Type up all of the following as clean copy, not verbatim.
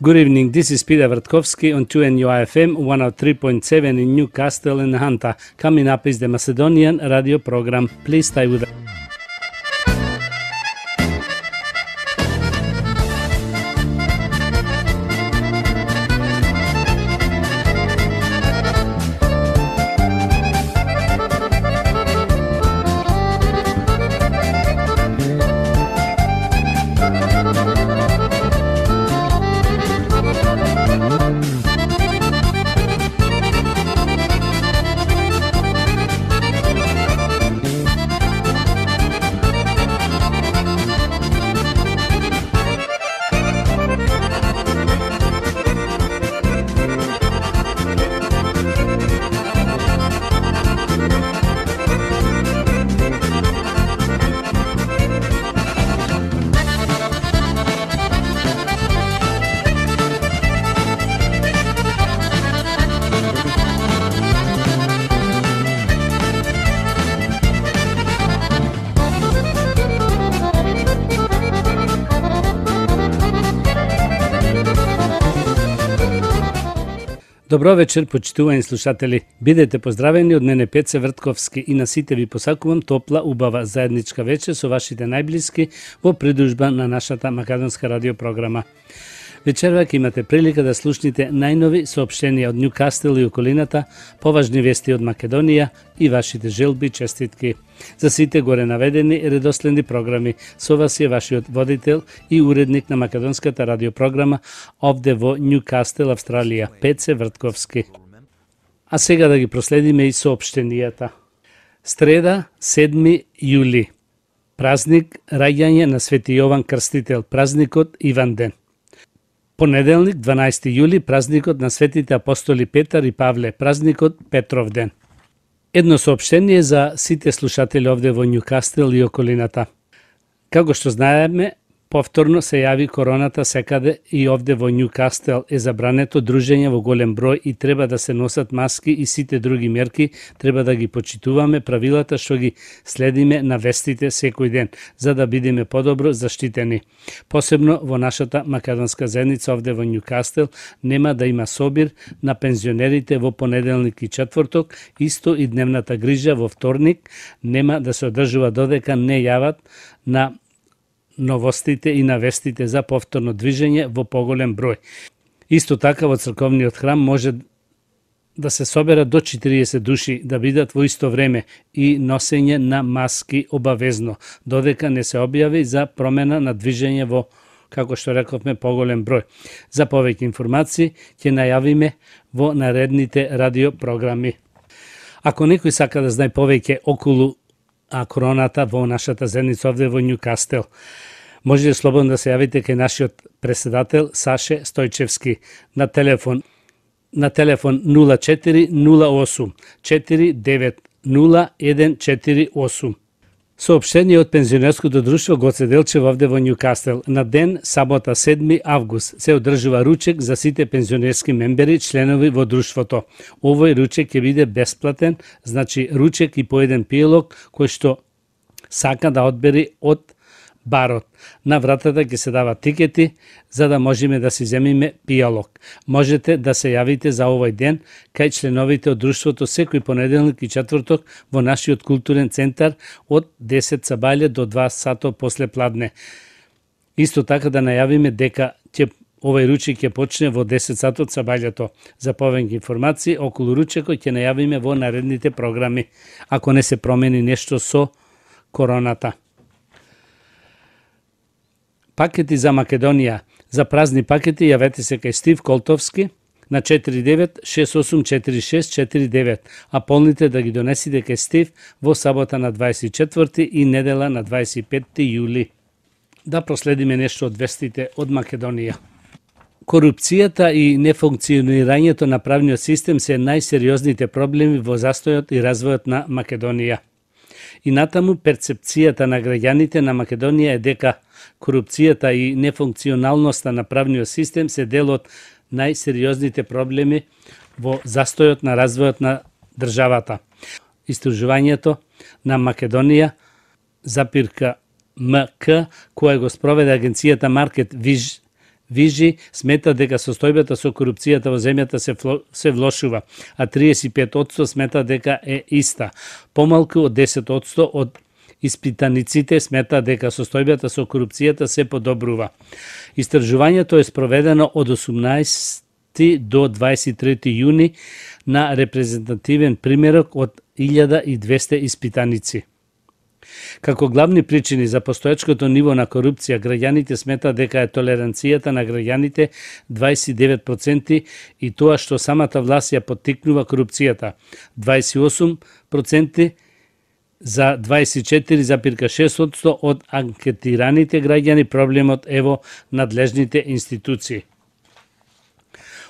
Good evening, this is Peter Vertkovsky on 2NUI-FM 103.7 in Newcastle and Hunter. Coming up is the Macedonian radio program. Please stay with us. Добро вечер, почитувани слушатели. Бидете поздравени од мене Пеце Вртковски и на сите ви посакувам топла, убава заедничка вечер со вашите најблиски во придружба на нашата македонска радиопрограма. Вечерва ќе имате прилика да слушнете најнови соопштенија од Ньюкастел и околината, поважни вести од Македонија и вашите желби и честитки. За сите горе наведени редоследни програми, со вас е вашиот водител и уредник на македонската радиопрограма овде во Ньюкастел, Австралија, Пеце Вртковски. А сега да ги проследиме и соопштенијата. Среда, 7 јули. Празник раѓање на Свети Јован Крстител, празникот Иван ден. Понеделник, 12 јули, празникот на светите апостоли Петар и Павле, празникот Петров ден. Едно соопштение за сите слушатели овде во Ньюкастел и околината. Како што знаеме, повторно се јави короната секаде и овде во Ньюкастел е забрането дружење во голем број и треба да се носат маски и сите други мерки, треба да ги почитуваме правилата што ги следиме на вестите секој ден, за да бидеме подобро заштитени. Посебно во нашата македонска заедница овде во Ньюкастел нема да има собир на пензионерите во понеделник и четврток, исто и дневната грижа во вторник нема да се одржува додека не јават на новостите и навестите за повторно движење во поголем број. Исто така во црковниот храм може да се соберат до 40 души да бидат во исто време и носење на маски обавезно, додека не се објави за промена на движење во, како што рековме, поголем број. За повеќе информации ќе најавиме во наредните радиопрограми. Ако некој сака да знае повеќе околу короната во нашата заедница овде во Ньюкастел, може слободно да се јавите кај нашиот председател Саше Стојчевски на телефон 0408 490 Соопштение од пензионерското друштво Гоце Делчев овде во Ньюкастел. На ден сабота 7 август се одржува ручек за сите пензионерски мембери, членови во друштвото. Овој ручек ќе биде бесплатен, значи ручек и по еден пиелок кој што сака да одбери од барот. На вратата ќе се дават тикети за да можеме да си земиме пијалок. Можете да се јавите за овој ден кај членовите од друштвото секој понеделник и четврток во нашиот културен центар од 10 сабајле до 2 сато после пладне. Исто така да најавиме дека овој ручек ќе почне во 10 сато од сабајлето. За повеќе информации околу ручекот ќе најавиме во наредните програми, ако не се промени нешто со короната. Пакети за Македонија. За празни пакети јавете се кај Стив Колтовски на 49684649, а полните да ги донесите кај Стив во сабота на 24 и недела на 25 јули. Да проследиме нешто од вестите од Македонија. Корупцијата и нефункционирањето на правниот систем се најсериозните проблеми во застојот и развојот на Македонија. И натаму перцепцијата на граѓаните на Македонија е дека корупцијата и нефункционалноста на правниот систем се дел од најсериозните проблеми во застојот на развојот на државата. Истражувањето на Македонија, запирка МК, која го спроведе агенцијата Market Вижи смета дека состојбата со корупцијата во земјата се влошува, а 35% смета дека е иста. Помалку од 10% од испитаниците смета дека состојбата со корупцијата се подобрува. Истражувањето е спроведено од 18 до 23 јуни на репрезентативен примерок од 1200 испитаници. Како главни причини за постоечкото ниво на корупција, граѓаните сметаат дека е толеранцијата на граѓаните 29% и тоа што самата власт ја поттикнува корупцијата 28%, за 24,6% од анкетираните граѓани проблемот е во надлежните институции.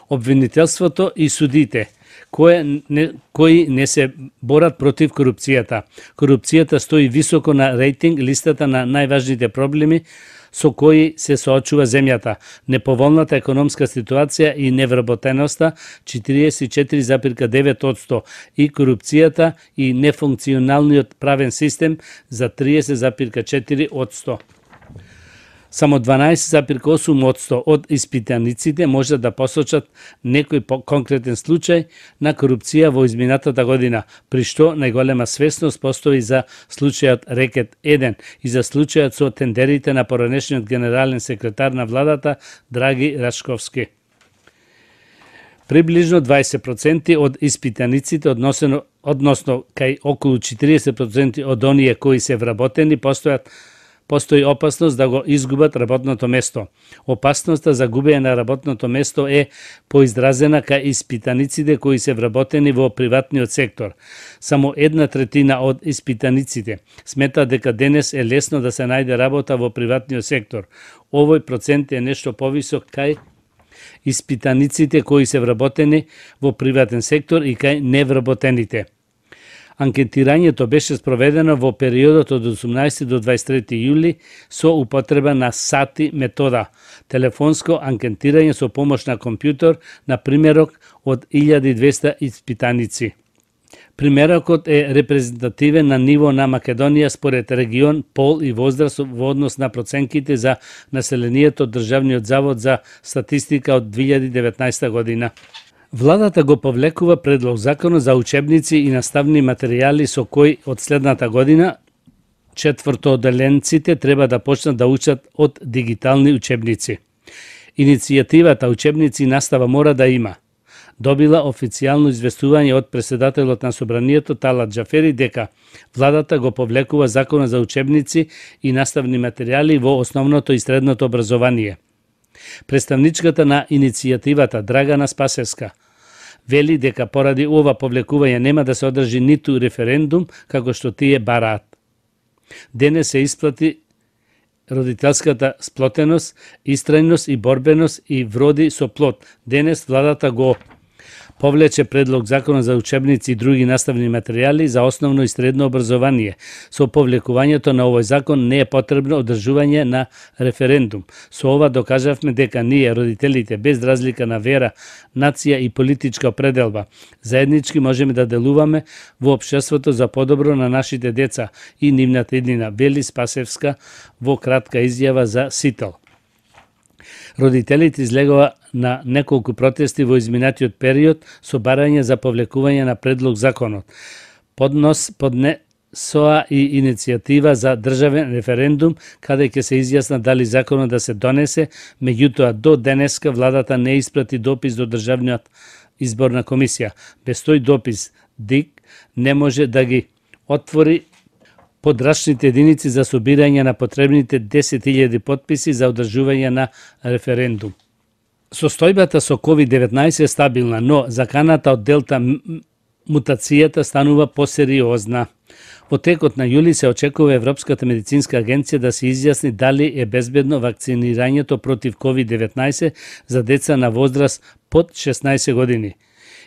Обвинителството и судите кои не се борат против корупцијата. Корупцијата стои високо на рейтинг листата на најважните проблеми со кои се соочува земјата. Неповолната економска ситуација и невработеноста 44,9% и корупцијата и нефункционалниот правен систем за 30,4%. Само 12,8% од испитаниците може да посочат некој конкретен случај на корупција во изминатата година, при што најголема свесност постои за случајот Рекет 1 и за случајот со тендерите на поранешниот генерален секретар на владата Драги Рашковски. Приближно 20% од испитаниците, односно кај околу 40% од оние кои се вработени, постои опасност да го изгубат работното место. Опасноста за губење на работното место е поизразена кај испитаниците кои се вработени во приватниот сектор. Само 1/3 од испитаниците смета дека денес е лесно да се најде работа во приватниот сектор. Овој процент е нешто повисок кај испитаниците кои се вработени во приватен сектор и кај невработените. Анкетирањето беше спроведено во периодот од 18 до 23 јули со употреба на сати метода, телефонско анкетирање со помош на компјутер на примерок од 1200 испитаници. Примерокот е репрезентативен на ниво на Македонија според регион, пол и возраст во однос на проценките за населението од Државниот завод за статистика од 2019 година. Владата го повлекува предлог закон за учебници и наставни материјали со кој од следната година четвртооделенците треба да почнат да учат од дигитални учебници. Иницијативата Учебници и настава мора да има добила официјално известување од претседателот на Собранието Талат Џафери дека владата го повлекува законот за учебници и наставни материјали во основното и средното образование. Представничката на иницијативата Драгана Спасевска вели дека поради ова повлекување нема да се одржи ниту референдум како што тие бараат. Денес се исплати родителската сплотеност, истрајност и борбеност и вроди со плод. Денес владата го повлече предлог закон за учебници и други наставни материјали за основно и средно образование. Со повлекувањето на овој закон не е потребно одржување на референдум. Со ова докажавме дека ние, родителите, без разлика на вера, нација и политичка определба, заеднички можеме да делуваме во општеството за подобро на нашите деца и нивната иднина, вели Спасевска во кратка изјава за Сител. Родителите излегува на неколку протести во изминатиот период со барање за повлекување на предлог законот. Поднесоа и иницијатива за државен референдум, каде ќе се изјасна дали законот да се донесе, меѓутоа до денеска владата не испрати допис до Државниот изборна комисија. Без тој допис ДИК не може да ги отвори подрачните единици за собирање на потребните 10.000 потписи за одржување на референдум. Состојбата со COVID-19 е стабилна, но заканата од Делта мутацијата станува посериозна. Во текот на јули се очекува Европската медицинска агенција да се изјасни дали е безбедно вакцинирањето против COVID-19 за деца на возраст под 16 години.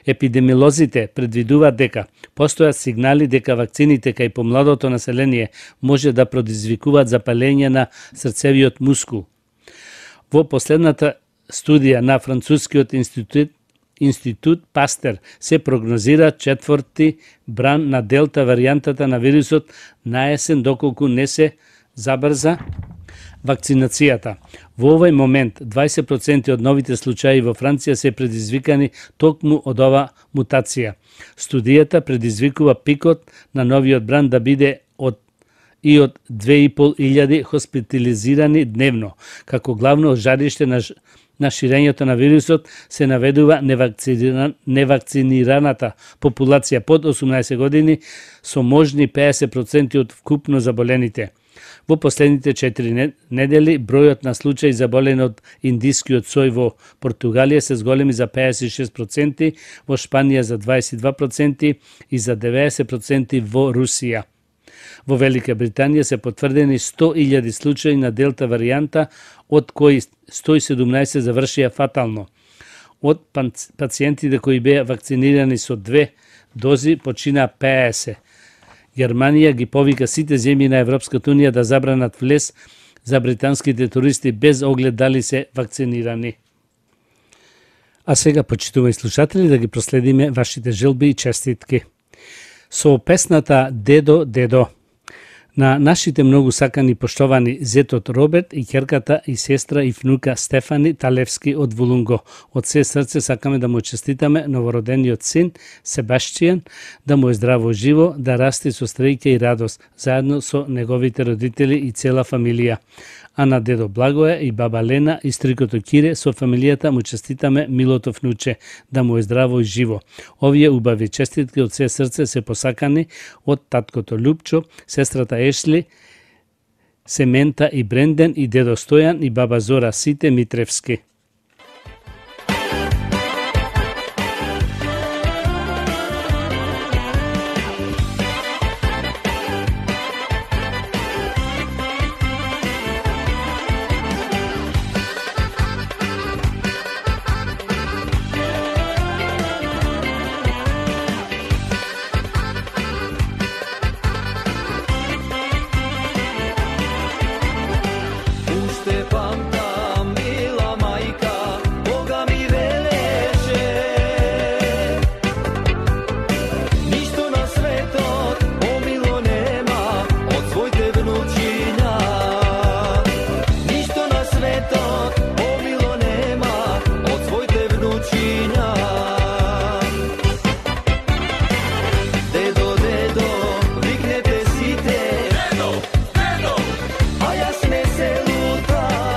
Епидемиолозите предвидуваат дека постојат сигнали дека вакцините кај помладото население може да предизвикуваат запалење на срцевиот мускул. Во последната студија на францускиот институт Пастер се прогнозира четврти бран на Делта варијантата на вирусот на есен, доколку не се забрза вакцинацијата. Во овој момент 20% од новите случаи во Франција се предизвикани токму од ова мутација. Студијата предизвикува пикот на новиот бранд да биде од 2.500 хоспитализирани дневно. Како главно жариште на ширењето на вирусот се наведува невакцинираната популација под 18 години со можни 50% од вкупно заболените. Во последните 4 недели бројот на случаи заболени од индискиот сој во Португалија се зголеми за 56%, во Шпанија за 22% и за 90% во Русија. Во Велика Британија се потврдени 100.000 случаи на делта варијанта, од кои 117 завршија фатално. Од пациентите кои беа вакцинирани со 2 дози почина 50. Германија ги повика сите земји на Европската унија да забранат влез за британските туристи без оглед дали се вакцинирани. А сега, почитуваји слушатели, да ги проследиме вашите желби и честитки. Со песната Дедо, Дедо на нашите многу сакани поштовани зетот Роберт и ќерката и сестра и внука Стефани Талевски од Вулунго. Од се срце сакаме да му честитаме новородениот син Себаштијан, да му е здраво живо, да расте со стреќа и радост, заедно со неговите родители и цела фамилија. А на дедо Благоја и баба Лена и стрикото Кире со фамилијата му честитаме милото внуче, да му е здраво и живо. Овие убави честитки од се срце се посакани од таткото Лупчо, сестрата Ешли, Семента и Бренден и дедо Стојан и баба Зора Сите Митревски. Dedo, dedo, a јас не се лутам.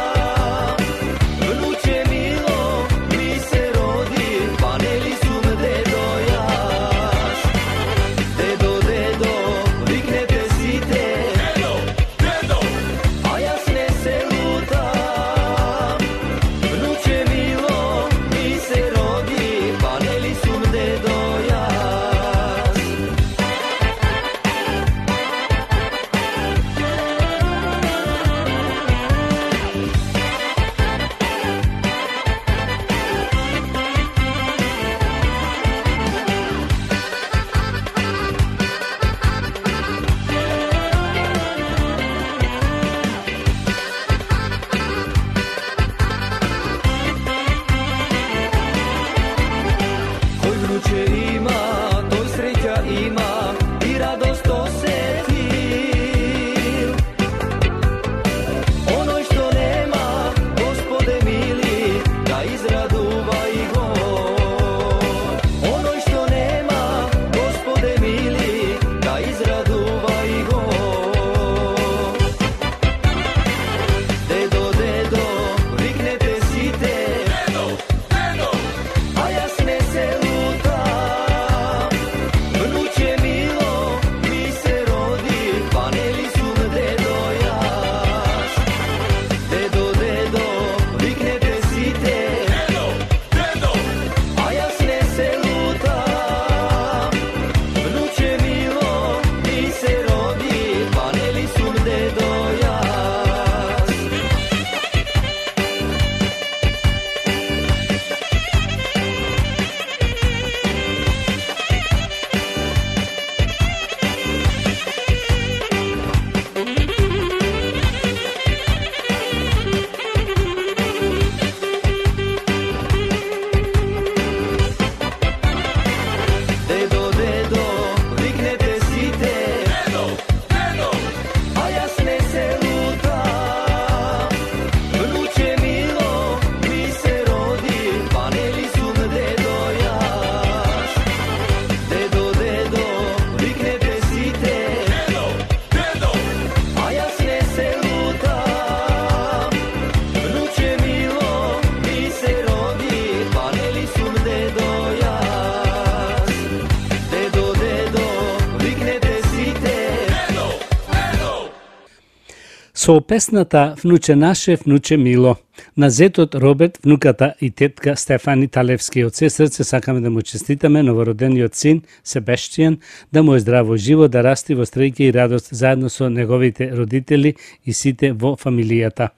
Со песната Внуче наше, внуче мило, на зетот Роберт, внуката и тетка Стефани Талевски, од се срце сакаме да му честитаме новородениот син Себештијан, да му е здраво живо, да расти во стреќа и радост заедно со неговите родители и сите во фамилијата.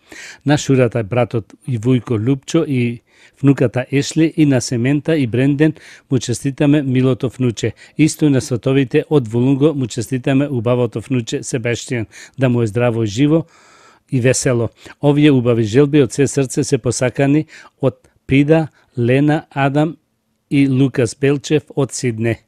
На шурата братот и Вујко Лупчо и внуката Ешли и на Семента и Бренден му честитаме милото внуче. Исто и на сватовите од Волунго му честитаме убавото внуче Себештијан, да му е здраво живо и весело. Овие убави желби од се срце се посакани од Пида, Лена, Адам и Лукас Белчев од Сидне.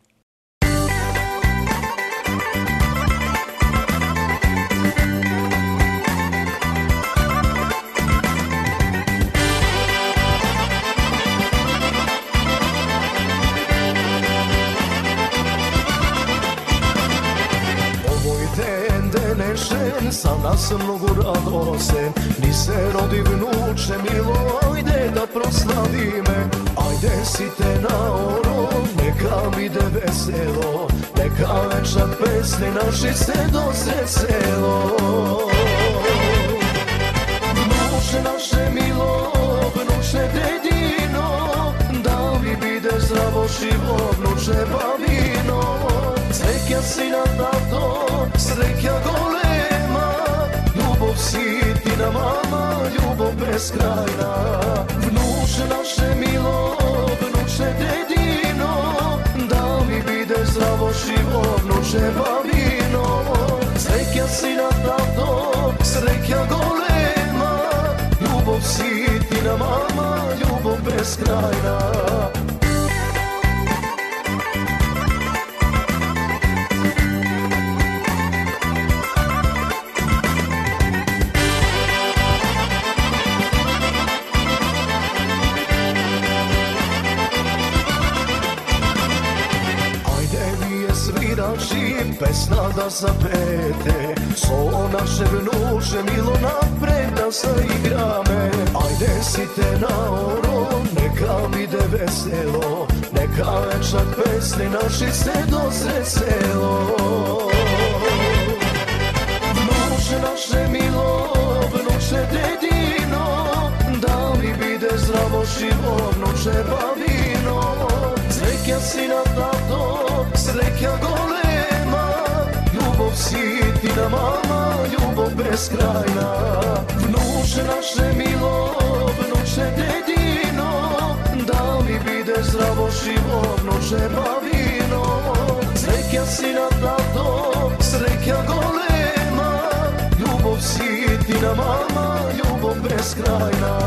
Sa nas mnogo radosен, ni se rodi vnuče milo, ajde da proslavi me, ajde si te na oro, neka mi de veselo, neka večer pesni naši se dosre selo. Vnuče naše milo, vnuče dedino, da mi bide zdravo živo, vnuče bavino, sreća si na tato, sreća gole, si ti na mama, ljubov beskrajna. Vnuče naše milo, vnuče dedino, da mi bide zdravo živo, vnuče bavino. Sreća si na tato, sreća golema, ljubov si ti na mama, ljubov beskrajna. Pesna da zapete, so naše vnuče milo napred da zaigrame. Ajde si te na oro, neka mi de veselo, neka večer pesni naši se dosre selo. Vnuče naše milo, vnuče dedino, da mi bide zdravo živo, vnuče bavino. Sreća si na tato, sreća gole, si ti na mama, ljubov beskrajna. Vnuče naše milo, vnuče dedino, da mi bide zdravo živo, vnuče bavino. Sreća si na tato, sreća golema, ljubov si ti na mama, ljubov beskrajna.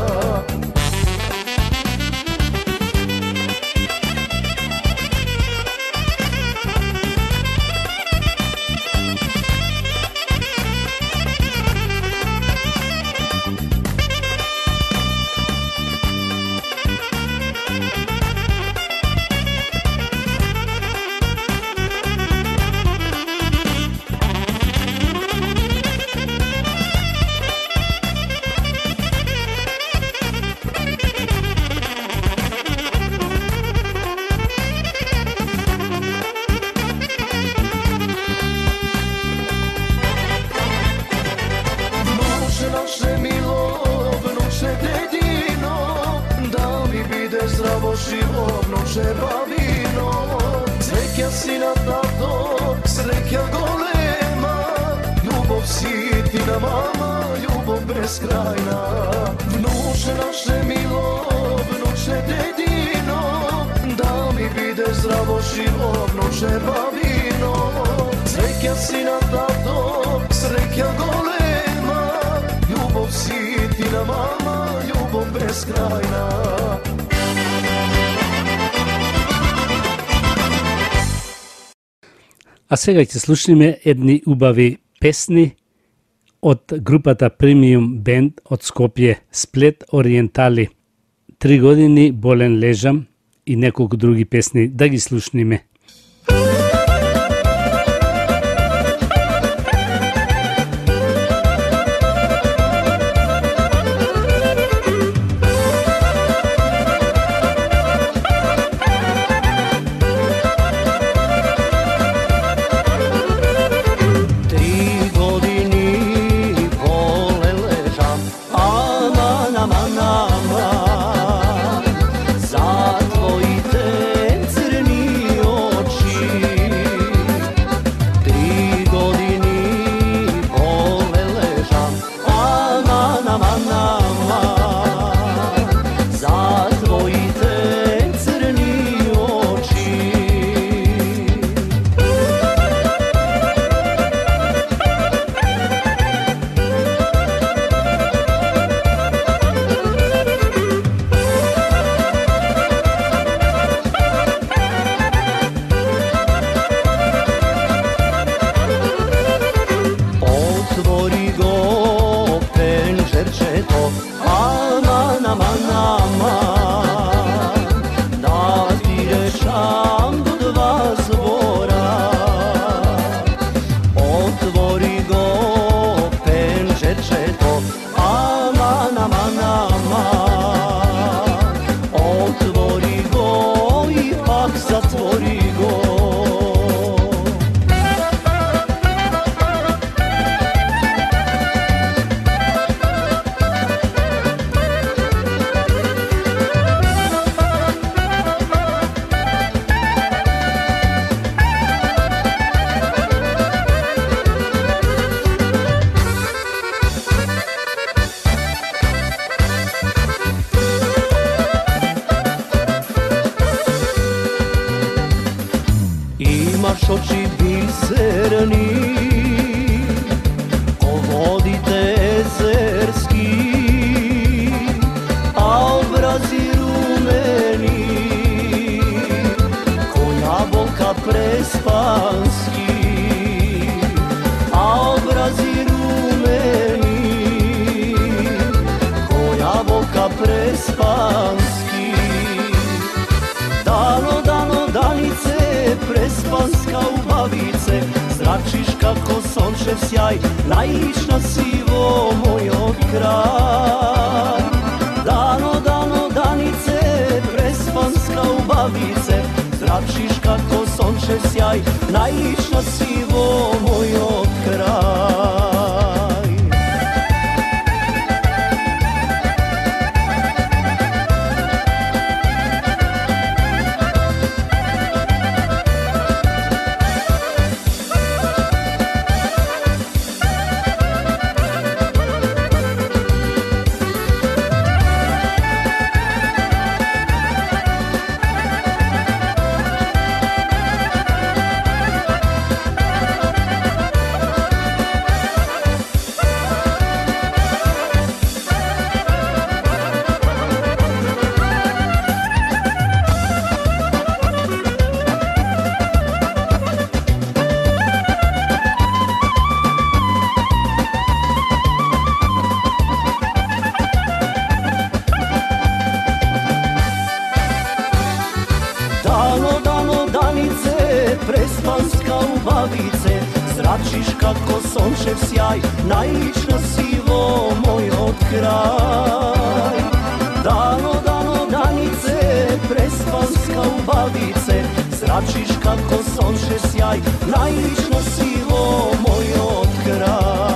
А сега ќе слушнеме едни убави песни од групата Премиум Бенд од Скопје, Сплет Ориентали. 3 години болен лежам и неколку други песни, да ги слушниме. Tri godini aman aman za tvojite crni oči 3 godini pole ležam aman aman aman za tvojite crni oči. Otvori go penžerčeto, aman, aman, aman, da ti rešam do 2 zvora. Otvori go penžerčeto, aman, aman, aman, otvori go i pak zatvori go. Imaš oči biserni, ko vodite ezerski, a obrazi rumeni, ko jabolka prespanski, a obrazi rumeni, ko jabolka prespanski. Dano, dano, danice, prespanska ubavice, zračiš kako sončev sjaj, naišna sivo moj od kraj. Dano, dano, danice, prespanska ubavice, zračiš kako sončev sjaj, naišna sivo moj od kraj. Dano, dano, danice, prespanska ubavice, zračiš kako sončev sjaj, naišna sivo moj od kraj. Dano, dano, danice, prespanska ubavice, zračiš kako sončev sjaj, naišna sivo moj od kraj.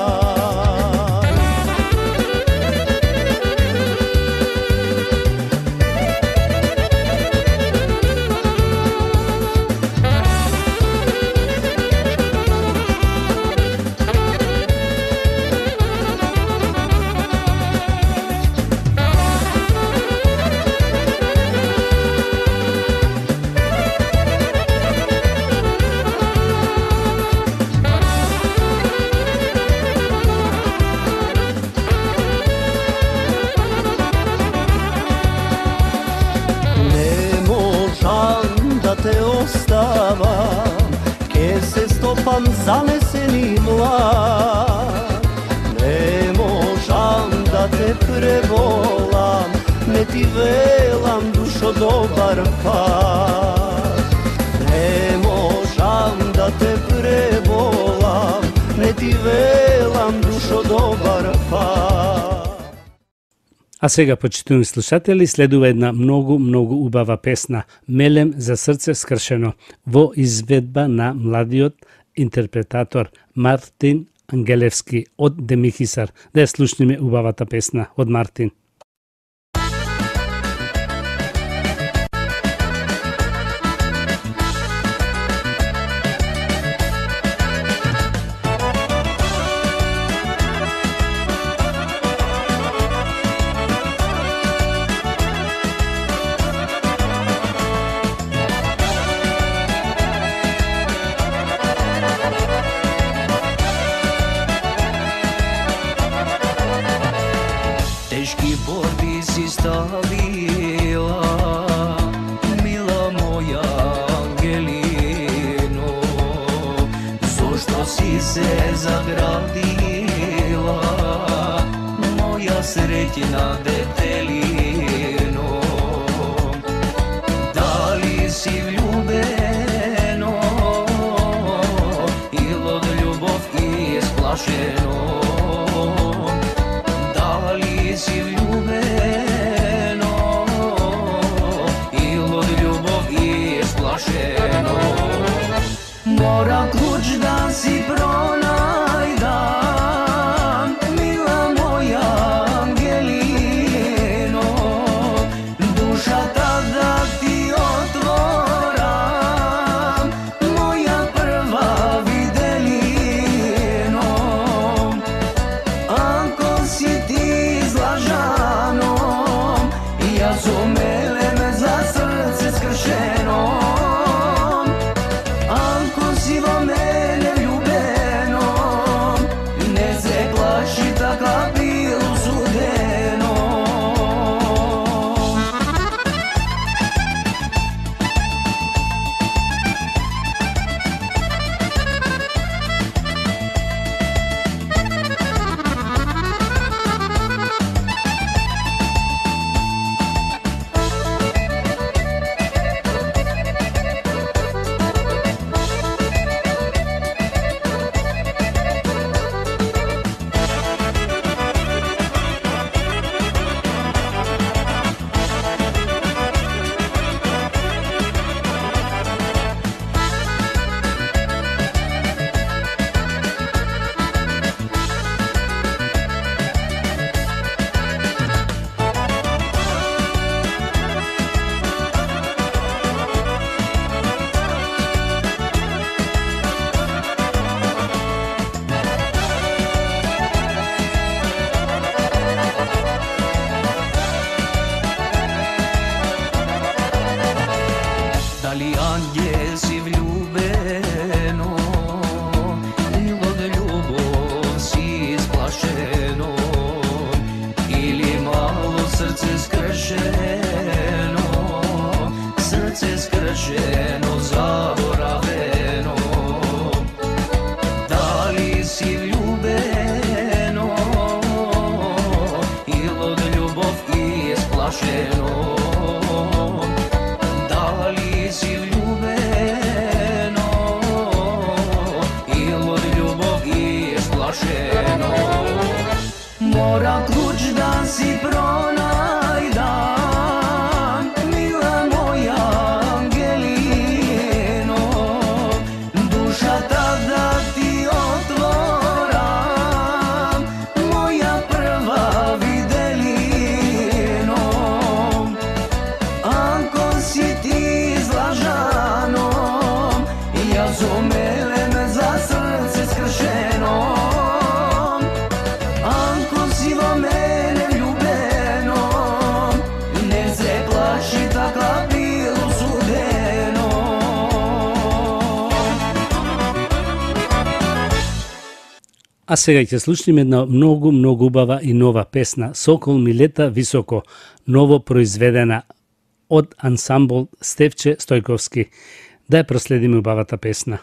Te ostavam, ke se stopam zaneseni mlad. Ne možam da te prevolam, ne ti velam dušo dobar pad. Ne možam da te prevolam, ne ti velam dušo dobar pad. А сега, почитувани слушатели, следува една многу убава песна "Мелем за срце скршено" во изведба на младиот интерпретатор Мартин Ангелевски од Демихисар. Да ја слушнеме убавата песна од Мартин. teški borbi si stavila, mila moja Angelino, zašto si se zagradila, moja srećna detelino, da li si vljubeno ili od ljubav isplašeno, da li si vljubeno ili od ljubav isplašeno, mora ključ da si pronajdam, mila moja Angelino, duša tada ti otvoram, moja prva videlino, ako si ti zlažanom, ja zumelem za srce skršeno, ako si vo mene ljubeno, ne se plaši taka bilo sudeno. Da li angel si vljubeno ili od ljubov si isplašeno, ili malo srce skršeno, srce skršeno, zaboraveno, da li si vljubeno ili od ljubov isplašeno, da li si vljubeno ili od ljubav isplašeno, mora ključ da si pronajdam, mila moja Angelino, duša tada ti otvoram, moja prva videlino, ako si ti zlažanom, ja zumelem za srce skršeno, ako si vo mene ljubeno, ne se plaši taka bilo sudeno. А сега ќе слушнеме една многу убава и нова песна Сокол ми лета високо, ново произведена од ансамбл Стефче Стојковски. Да ја проследиме убавата песна.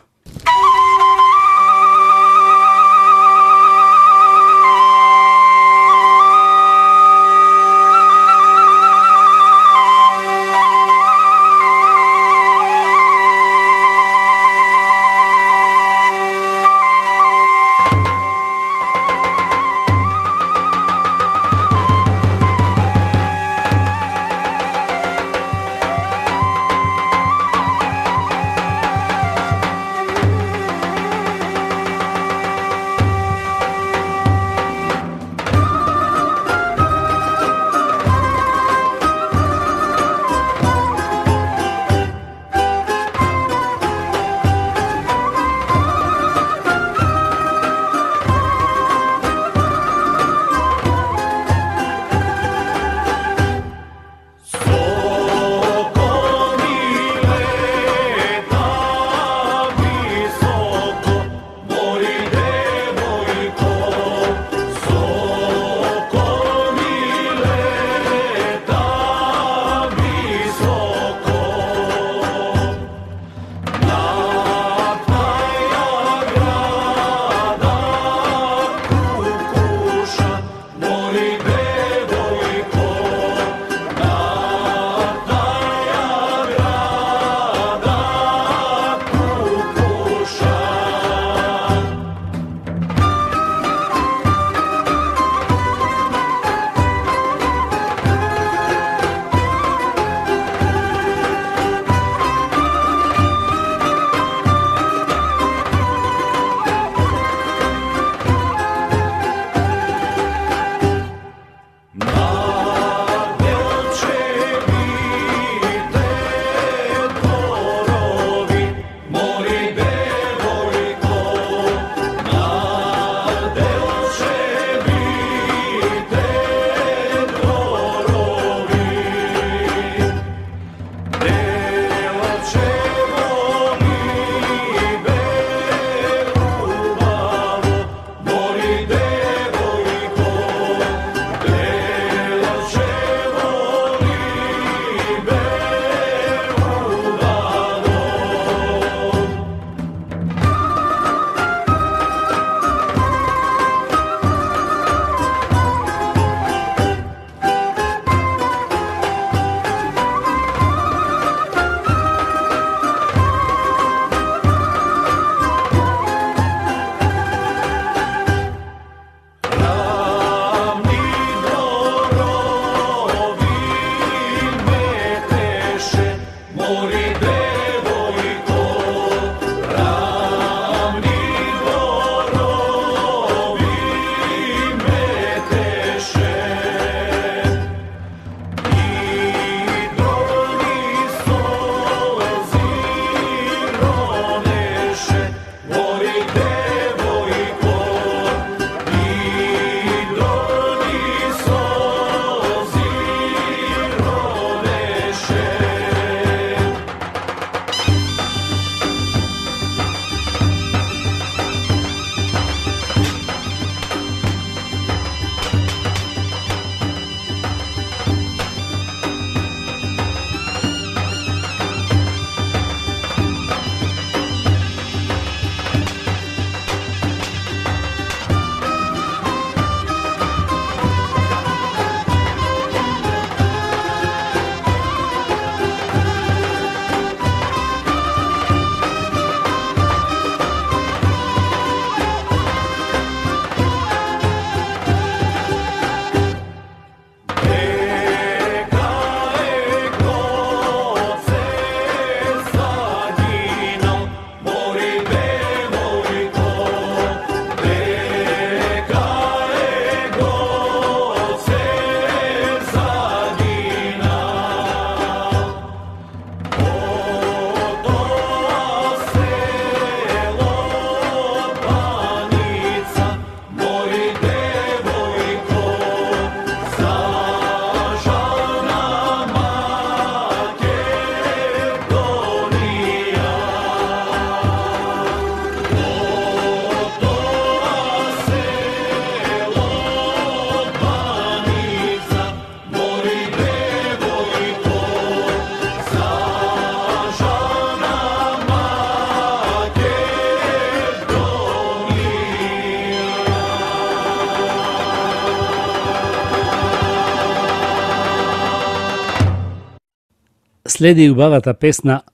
Следи убавата песна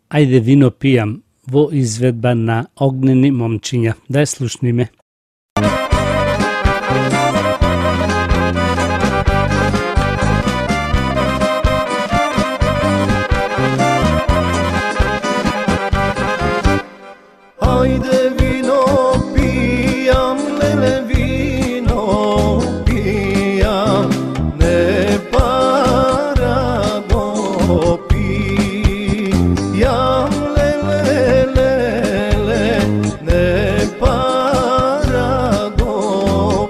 Ајде вино пијам во изведба на Огнени момчиња. Да ја слушниме. Ајде вино пијам, леле вино пијам, не пара го пијам, леле, леле, не пара го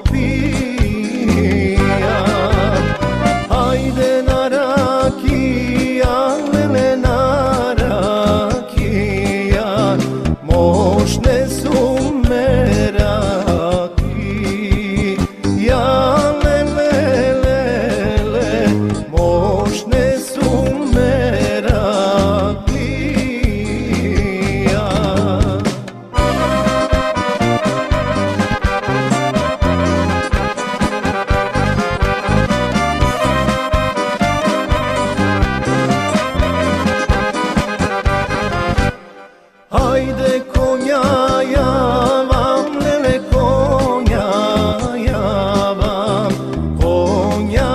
пијам. Ајде на ракија, леле на ракија, mošne su meraki, ja lele, lele, mošne su meraki, ja. Ajde konja javam, lele konja javam, konja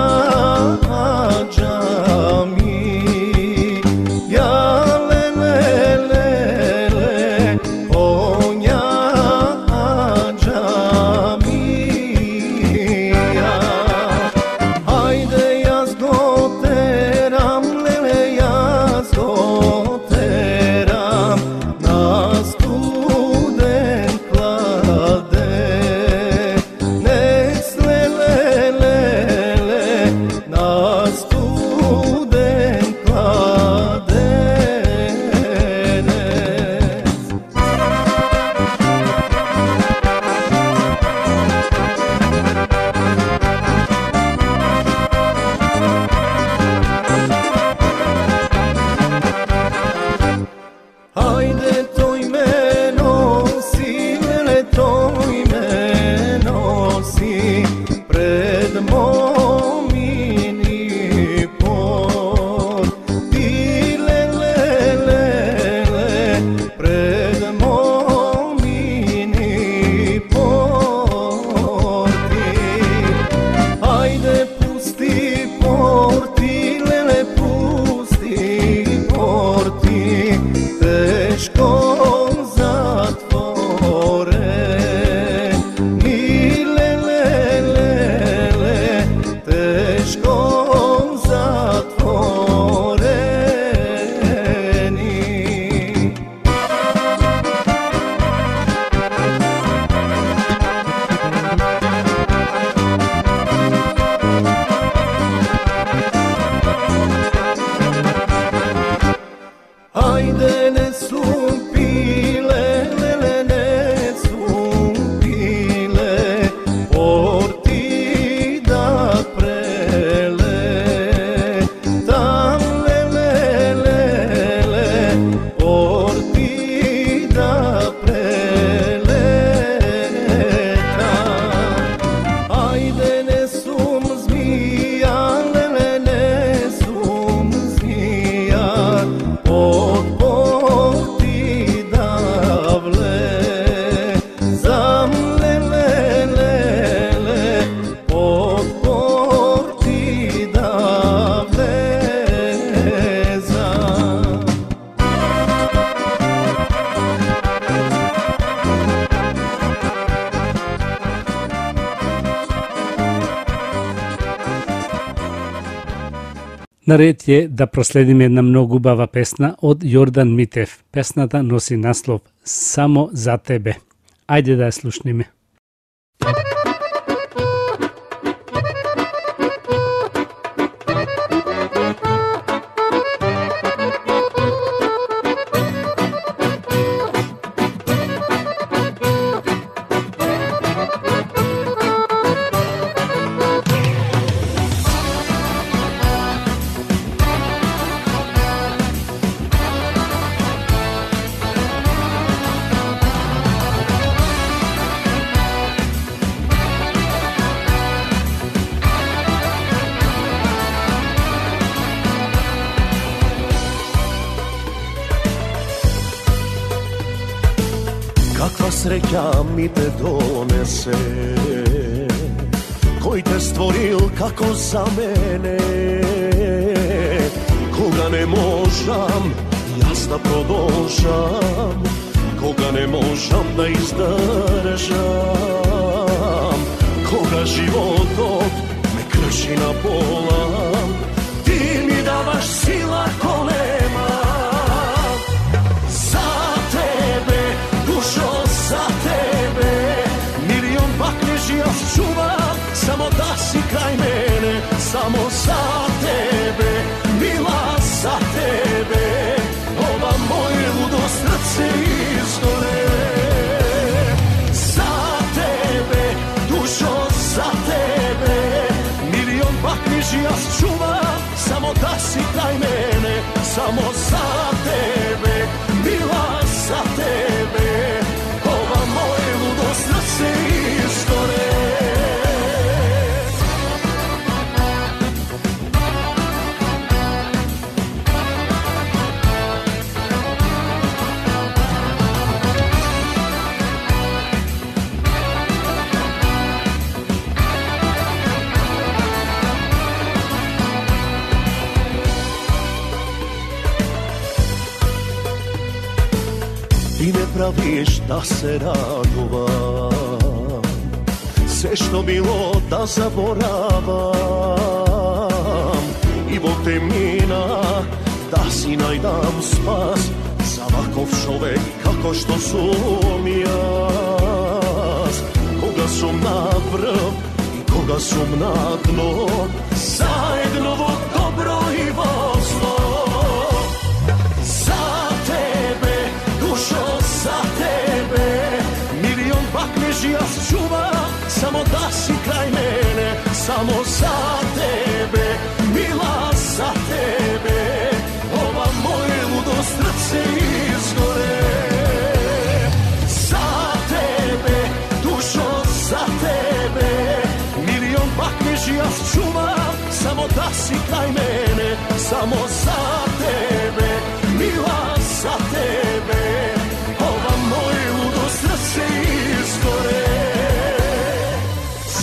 ađami, ja lele, lele, konja ađami, ja. Ajde jaz go teram, lele jaz go teram, na student klade, nes lele, lele, na student klade, nes. Ajde toj me nosi, lele toj me nosi, pred momini pod, ti lele, lele, pred momini porti. Ajde pusti porti, lele pusti porti, teškom zatvore, ni lele, lele, teškom zatvoreni. Ajde ne sumpile, lele ne sumpile, porti da prele, tam lele, lele, porti da prele, tam. Ajde ne sum zmija, lele ne sum zmija, od porti davle, zam lele, lele, od porti davle, zam. Наред е да проследиме една многу убава песна од Јордан Митев. Песната носи наслов Само за тебе. Ајде да ја слушниме. sreća mi te donese, koji te stvoril kako za mene, koga ne možam jaz da продолжам, koga ne možam da izdržam, koga životom me krši na pola, ti mi davaš sila ko nema. Za tebe, dušo, za tebe, milion bakneš ja čuvam, samo da si kraj mene, samo za tebe, mila za tebe, ova moje ludo srce izgore. Za tebe, dušo, za tebe, milion bakneš ja čuvam, samo da si kraj mene, samo za tebe, mila za tebe, ova moje ludo srce izgore. Ti me praviš da se raduvam, sve što bilo da zaboravam, i Bog te mina da si najdam spas, za ovakov čovek kako što sum jaz, koga sum na vrh i koga sum na dno, zajedno vo dobro i vo zlo. Za tebe, milion bakneš ja čuvam, samo da si kraj mene, samo za tebe, mila za tebe, ova moje ludo srce izgore. Za tebe, dušo, za tebe, milion bakneš ja čuvam, samo da si kraj mene, samo za tebe, mila za tebe, ova moje ludo srce izgore.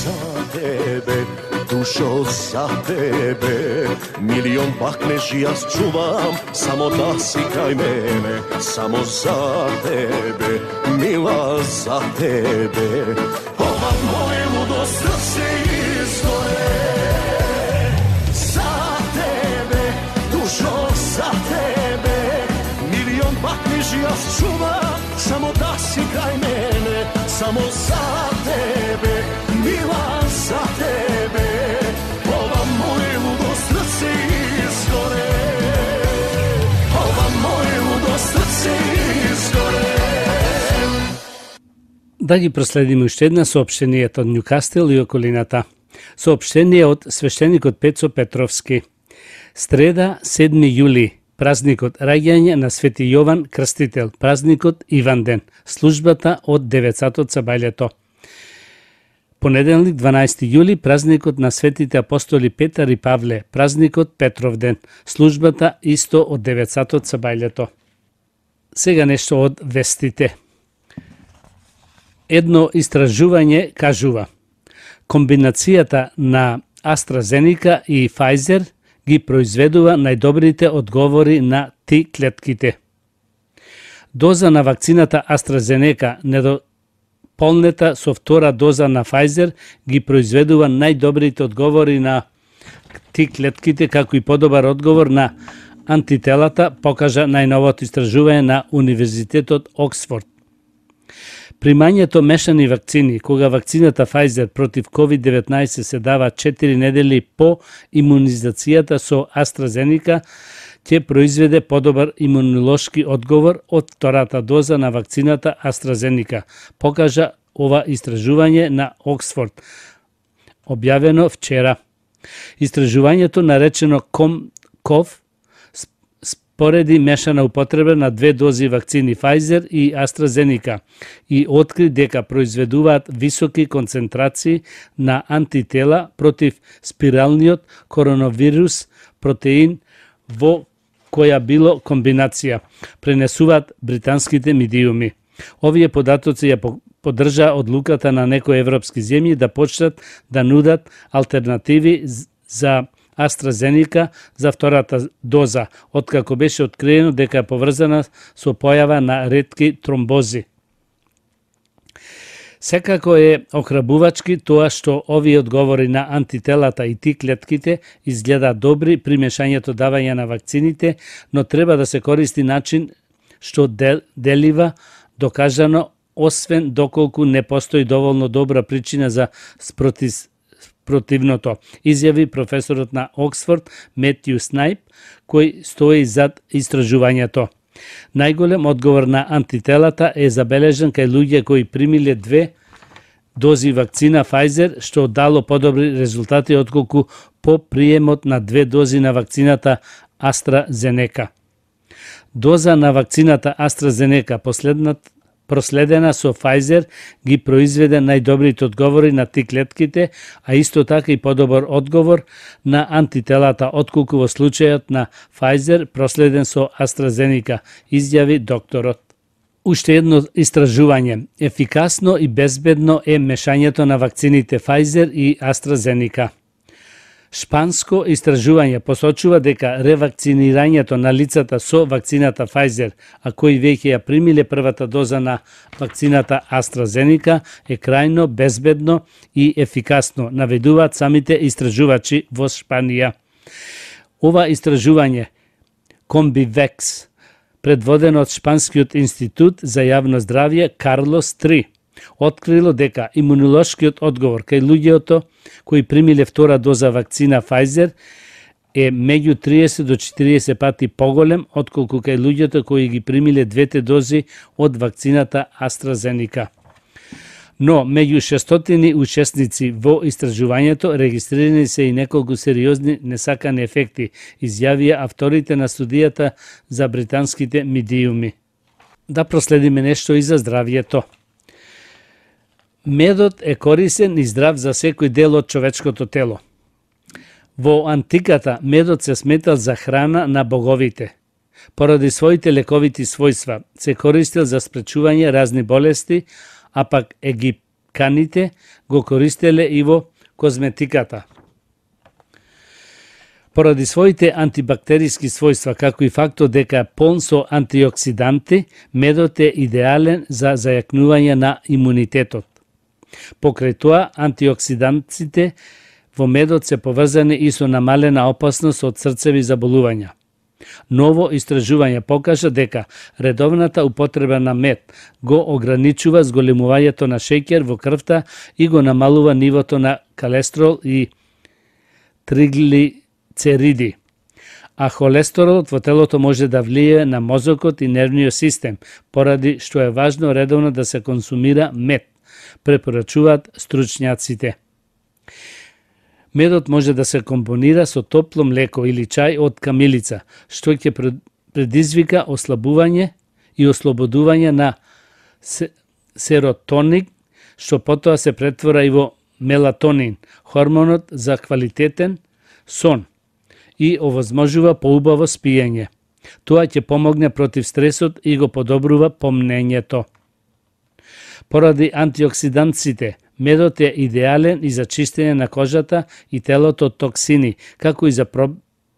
Za tebe, dušo, za tebe, milion bakneš ja čuvam, samo da si kraj mene, samo za tebe, mila za tebe, ova moje ludo srce izgore. Za tebe, dušo, za tebe, milion bakneš ja čuvam, samo da si kraj mene, samo za tebe, mila za tebe, ova moje ludo srce izgore, ova moje ludo srce izgore. Да ги проследиме уште една соопштението од Њукастел и околината. Соопштение од свештеникот Пецо Петровски. Среда, 7 јули, празникот раѓање на Свети Јован Крстител, празникот Иванден, службата од 9 сабајлето. Понеделник, 12 јули, празникот на светите апостоли Петар и Павле, празникот Петровден, службата исто од 9 сабајлето. Сега нешто од вестите. Едно истражување кажува: комбинацијата на AstraZeneca и Pfizer ги произведува најдобрите одговори на T клетките. Доза на вакцината AstraZeneca недополнета со втора доза на Pfizer ги произведува најдобрите одговори на T клетките, како и подобар одговор на антителата, покажа најновото истражување на Универзитетот Оксфорд. Примањето мешани вакцини, кога вакцината Pfizer против COVID-19 се дава 4 недели по имунизацијата со AstraZeneca, ќе произведе подобар имунолошки одговор од втората доза на вакцината AstraZeneca, покажа ова истражување на Оксфорд, објавено вчера. Истражувањето наречено COMCOV спореди мешана употреба на 2 дози вакцини Pfizer и AstraZeneca и откри дека произведуваат високи концентрации на антитела против спиралниот коронавирус протеин во која било комбинација, пренесуваат британските медиуми. Овие податоци ја поддржа одлуката на некои европски земји да почнат да нудат алтернативи за AstraZeneca за втората доза, откако беше откриено дека е поврзана со појава на ретки тромбози. Секако е охрабувачки тоа што овие одговори на антителата и Т-клетките изгледаат добри при мешањето давање на вакцините, но треба да се користи начин што делива докажано, освен доколку не постои доволно добра причина за противното, изјави професорот на Оксфорд Метју Снайп, кој стои зад истражувањето. Најголем одговор на антителата е забележен кај луѓе кои примиле 2 дози вакцина Pfizer, што дало подобри резултати отколку по приемот на 2 дози на вакцината AstraZeneca. Доза на вакцината AstraZeneca, проследена со Pfizer, ги произведе најдобрите одговори на Т-клетките, а исто така и подобар одговор на антителата, отколку во случајот на Pfizer проследен со AstraZeneca, изјави докторот. Уште едно истражување. Ефикасно и безбедно е мешањето на вакцините Pfizer и AstraZeneca. Шпанско истражување посочува дека ревакцинирањето на лицата со вакцината Pfizer, а кои веќе ја примиле првата доза на вакцината AstraZeneca, е крајно безбедно и ефикасно, наведуваат самите истражувачи во Шпанија. Ова истражување, Комбивекс, предводено од Шпанскиот институт за јавно здравје Карлос III, открило дека имунолошкиот одговор кај луѓето кои примиле втора доза вакцина Pfizer е меѓу 30 до 40 пати поголем отколку кај луѓето кои ги примиле 2 дози од вакцината AstraZeneca. Но меѓу 600 учесници во истражувањето регистрирани се и неколку сериозни несакани ефекти, изјавија авторите на студијата за британските медиуми. Да проследиме нешто и за здравјето. Медот е корисен и здрав за секој дел од човечкото тело. Во антиката медот се сметал за храна на боговите. Поради своите лековити својства се користел за спречување разни болести, а пак египканите го користеле и во козметиката. Поради своите антибактериски својства, како и фактот дека е полн со антиоксиданти, медот е идеален за зајакнување на имунитетот. Покрај тоа, антиоксидантите во медот се поврзани и со намалена опасност од срцеви заболувања. Ново истражување покажа дека редовната употреба на мед го ограничува зголемувањето на шеќер во крвта и го намалува нивото на колестерол и триглицериди. А холестеролот во телото може да влијае на мозокот и нервниот систем, поради што е важно редовно да се консумира мед, препорачуваат стручњаците. Медот може да се компонира со топло млеко или чај од камилица, што ќе предизвика ослабување и ослободување на серотонин, што потоа се претвора и во мелатонин, хормонот за квалитетен сон, и овозможува поубаво спиење. Тоа ќе помогне против стресот и го подобрува помнењето. Поради антиоксидантците, медот е идеален и за чистење на кожата и телото од токсини, како и за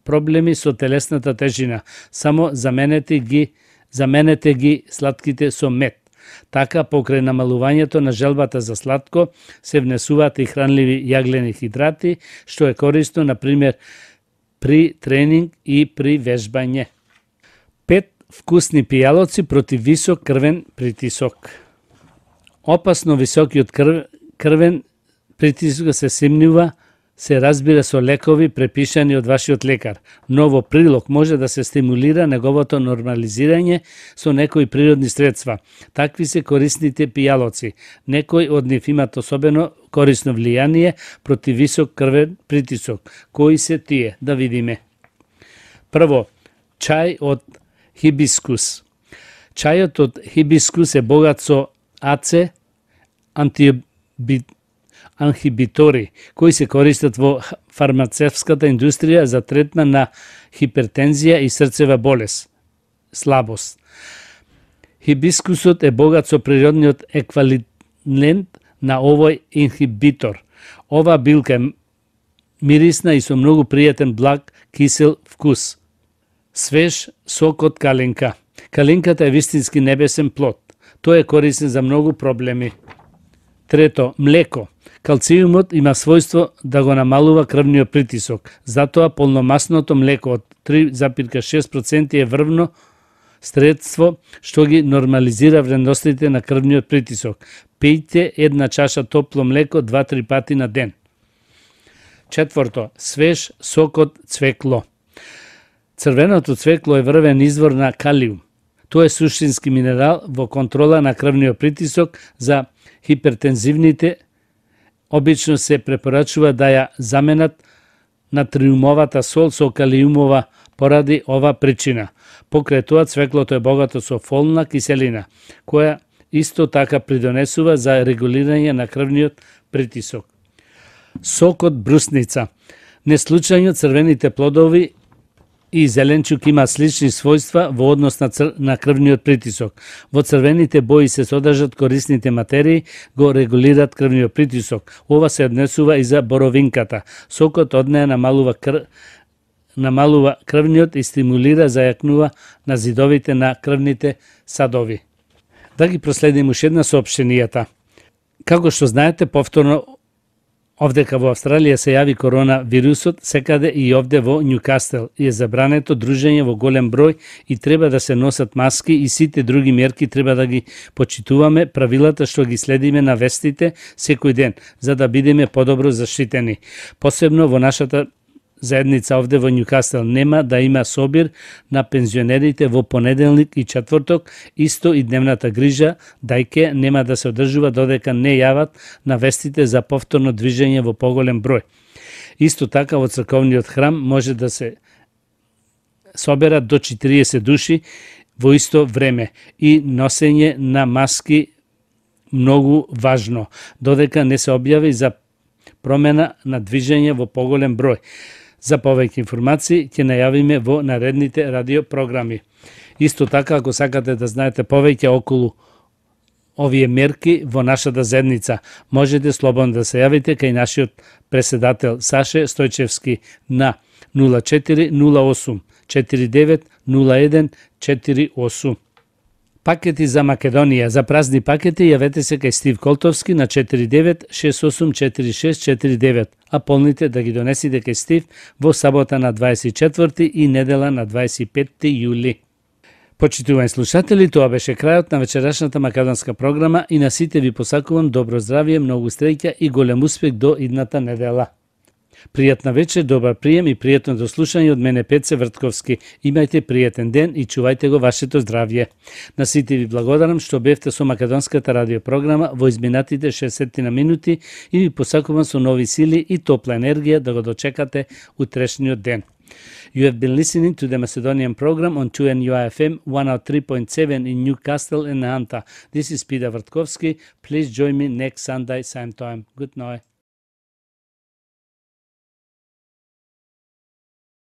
проблеми со телесната тежина. Само заменете ги слатките со мед. Така, покрај намалувањето на желбата за сладко, се внесуваат и хранливи јаглени хидрати, што е корисно, например, при тренинг и при вежбање. 5 вкусни пијалоци против висок крвен притисок. Опасно високиот крвен притисок се симнува, се разбира со лекови препишани од вашиот лекар, но во прилог може да се стимулира неговото нормализирање со некои природни средства. Такви се корисните пијалоци. Некои од нив имат особено корисно влијание против висок крвен притисок. Кои се тие? Да видиме. Прво, чај од хибискус. Чајот од хибискус е богат со АЦ, анхибитори, кои се користат во фармацевската индустрија за третман на хипертензија и срцева болест, слабост. Хибискусот е богат со природниот еквивалент на овој инхибитор. Ова билка е мирисна и со многу пријатен благ кисел вкус. Свеж сок од калинка. Калинката е вистински небесен плод. Тој е корисен за многу проблеми. Трето, млеко. Калциумот има својство да го намалува крвниот притисок. Затоа полномасното млеко од 3,6% е врвно средство што ги нормализира вредностите на крвниот притисок. Пијте една чаша топло млеко 2-3 пати на ден. Четврто, свеж сок од цвекло. Црвеното цвекло е врвен извор на калиум. Тоа е суштински минерал во контрола на крвниот притисок. За хипертензивните обично се препорачува да ја заменат натриумовата сол со калиумова поради ова причина. Покрај тоа цвеклото е богато со фолна киселина, која исто така придонесува за регулирање на крвниот притисок. Сок од брусница. Неслучајно црвените плодови и зеленчук има слични својства во однос на крвниот притисок. Во црвените бои се содржат корисните материи, го регулираат крвниот притисок. Ова се однесува и за боровинката. Сокот од неа намалува крвниот и стимулира зајакнува на зидовите на крвните садови. Да ги проследим уште една соопштенијата. Како што знаете, повторно овдека во Австралија се јави коронавирусот, секаде и овде во Њукастел и е забрането дружење во голем број и треба да се носат маски и сите други мерки треба да ги почитуваме, правилата што ги следиме на вестите секој ден, за да бидеме подобро заштитени. Посебно во нашата заедница овде во Њукастел нема да има собир на пензионерите во понеделник и четврток, исто и дневната грижа, дајке нема да се одржува додека не јават на вестите за повторно движење во поголем број. Исто така во црковниот храм може да се соберат до 40 души во исто време и носење на маски многу важно, додека не се објави за промена на движење во поголем број. За повеќе информации ќе најавиме во наредните радиопрограми. Исто така, ако сакате да знаете повеќе околу овие мерки во нашата заедница, можете слободно да се јавите кај нашиот преседател Саше Стојчевски на 0408 49 01 48. Пакети за Македонија. За празни пакети јавете се кај Стив Колтовски на 49684649, а полните да ги донесите кај Стив во сабота на 24 и недела на 25 јули. Почитувани слушатели, тоа беше крајот на вечерашната македонска програма и на сите ви посакувам добро здравје, многу среќа и голем успех до идната недела. Пријатна вечер, добар прием и пријатно дослушање од мене Пеце Вртковски. Имајте пријатен ден и чувајте го вашето здравје. На сите ви благодарам што бевте со македонската радиопрограма во изминатите 60 минути и ви посакувам со нови сили и топла енергија да го дочекате утрешниот ден. You have been listening to the Macedonian program on 2NUI-FM 103.7 in Newcastle and Nahanta. This is Peter Vrtkovski. Please join me next Sunday, same time. Good night.